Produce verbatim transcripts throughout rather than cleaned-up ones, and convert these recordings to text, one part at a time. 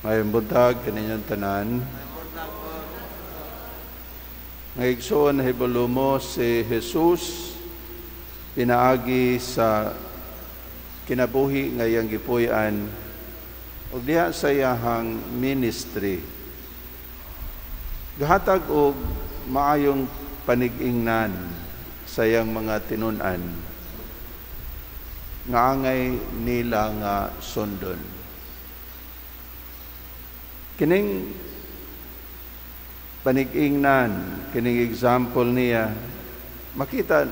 Maayong buntag kaninyong tanan. Mga igsoon, nahibalo mo si Jesus pinaagi sa kinabuhi nga iyang gipuy-an ug diha sa iyahang ministry. Gahatag og maayong panig-ingnan sa iyang mga tinun-an nga angay nila nga sundon. Kining panig-ingnan, kining example niya, makita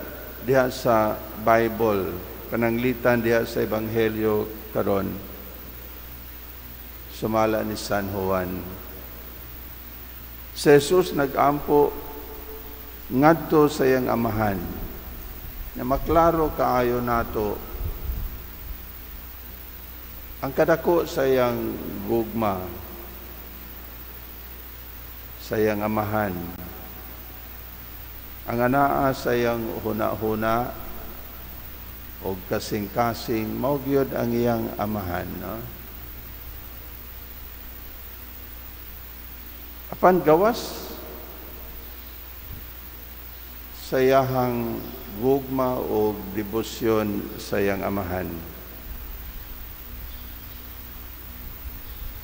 diha sa Bible, pananglitan diha sa Ebanghelyo karon, sumala ni San Juan. Si Jesus nag-ampo ngadto sa iyang amahan, na maklaro kaayo nato ang kadako sa iyang gugma sa iyang amahan. Ang anaa sa iyang huna-huna o kasing-kasing, mao gyud ang iyang amahan. No? Apan gawas sa iyahang gugma o debosyon sa iyang amahan,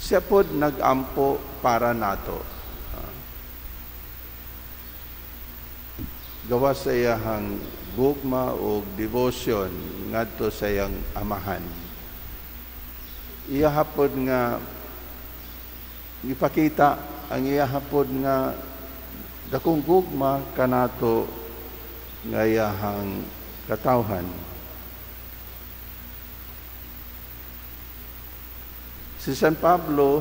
siya pod nag-ampo para nato. Gawas sa iyahang gugma o devotion ngadto sa iyang amahan, iya hapod nga ipakita ang iya hapod nga dakong gugma kanato nga iyahang katawhan. Si San Pablo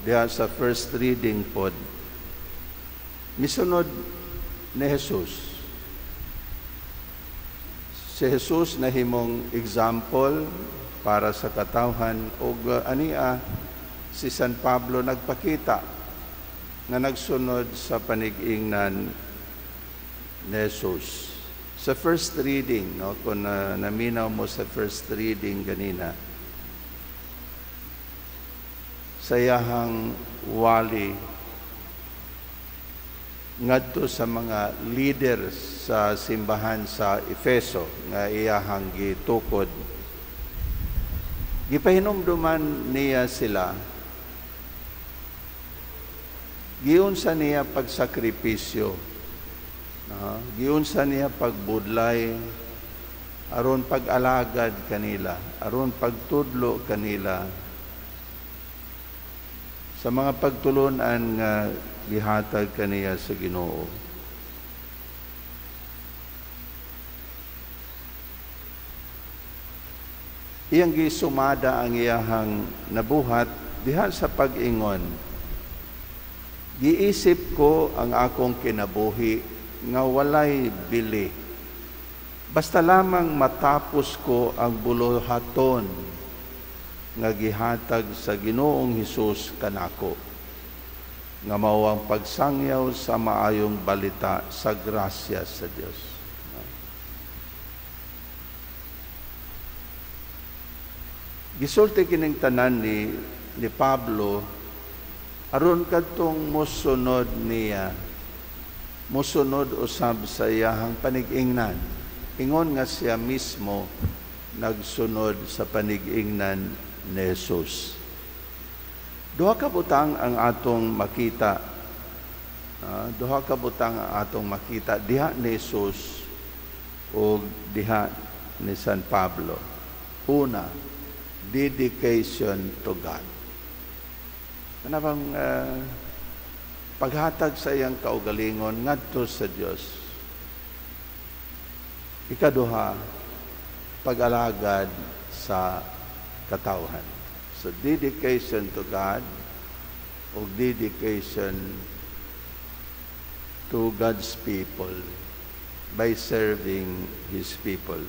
diha sa first reading pod misunod ni Jesus. Si Jesus nahimong example para sa katawhan ug ania si San Pablo nagpakita nga nagsunod sa panig-ingnan ni Jesus. Sa first reading, no, kung uh, naminaw mo sa first reading ganina, sa iyahang wali ngadto sa mga leaders sa simbahan sa Efeso nga iyahang gitukod, gipahinumduman niya sila, giunsa niya pagsakripisyo, no? Giunsa niya pagbudlay aron pag-alagad kanila, aron pagtudlo kanila sa mga pagtulunan nga gihatag kaniya sa Ginoo. Iyang gisumada ang iyahang nabuhat diha sa pag-ingon, giisip ko ang akong kinabuhi nga walay bili, basta lamang matapos ko ang buluhaton nga gihatag sa Ginoong Hesus kanako, nga mao ang pagsangyaw sa maayong balita sa grasya sa Dios. Gisulti kining tanan ni, ni Pablo aron kadtong mosunod niya, mosunod usab sa iyahang panig-ingnan. Ingon nga siya mismo nagsunod sa panig-ingnan ni Jesus. Duha ka butang ang atong makita. Uh, duha ka butang ang atong makita diha ni Jesus o diha ni San Pablo. Una, dedication to God. Ano bang uh, paghatag sa iyang kaugalingon ngadto sa Dios? Ikaduha, pag-alagad sa katawhan. So, dedication to God o dedication to God's people by serving His people.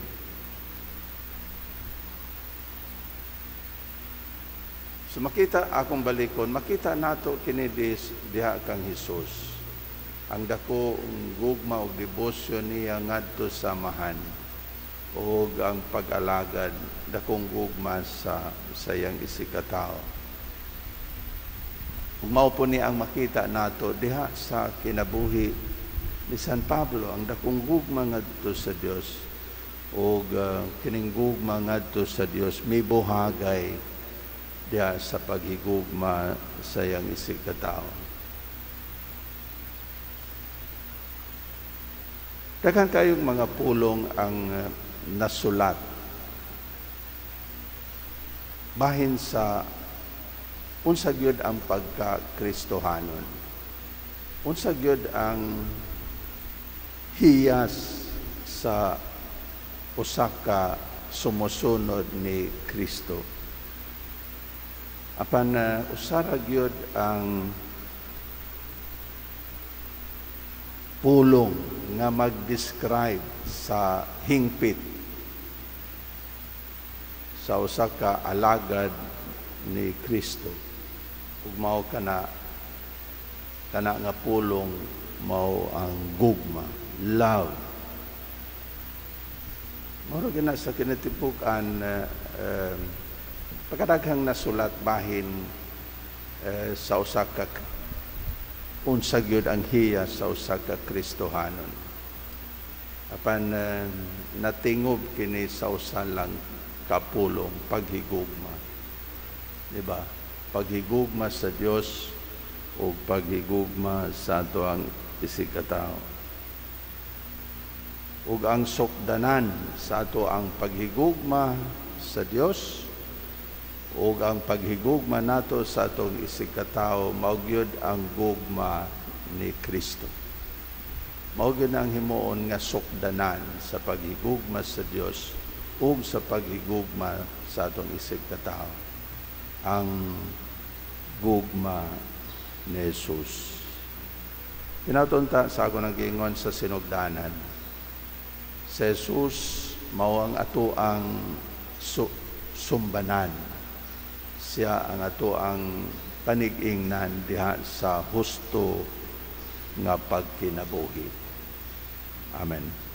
So makita akong balikon, makita nato kini diha kang Hesus. Ang dako ang gugma og debosyon niya ngadto sa amahan og ang pag-alagad dakong gugma sa sayang isikatao. Ug mao po ni ang makita nato diha sa kinabuhi ni San Pablo, ang dakong gugma ngadto sa Dios ug uh, kining gugma ngadto sa Dios mibuhagay diha sa paghigugma sa iyang isig katawo. Daghan kayong mga pulong ang uh, nasulat bahin sa unsa gyud ang pagka-Kristohanon. Unsa gyud ang hiyas sa usa ka sumusunod ni Kristo. Apan uh, usara gyud ang pulong nga mag-describe sa hingpit sa usa ka alagad ni Kristo. Ug mao kana kana nga pulong mao ang gugma, love. Mao ra gina sa kinatibuk-an uh, uh, pagkadaghang nasulat bahin uh, sa usa ka unsa gyud ang hiya sa usa ka Kristohanon. Apan uh, natingob kini sa usa lang kapulong, paghigugma. Di ba? Paghigugma sa Dios o paghigugma sa atoang isig katawo. Ug ang sukdanan sa ato ang paghigugma sa Dios ug ang paghigugma nato sa atong isig katawo mao gyud ang gugma ni Kristo. Mao gyud ang himuon nga sukdanan sa paghigugma sa Dios ug sa paghigugma sa atong isig katawo, ang gugma ni Jesus. Tinatunta sa ako nang giingon sa sinugdanan, si Jesus mao ang ato ang su- sumbanan. Siya ang ato ang panig-ingnan diha sa husto nga pagkinabuhi. Amen.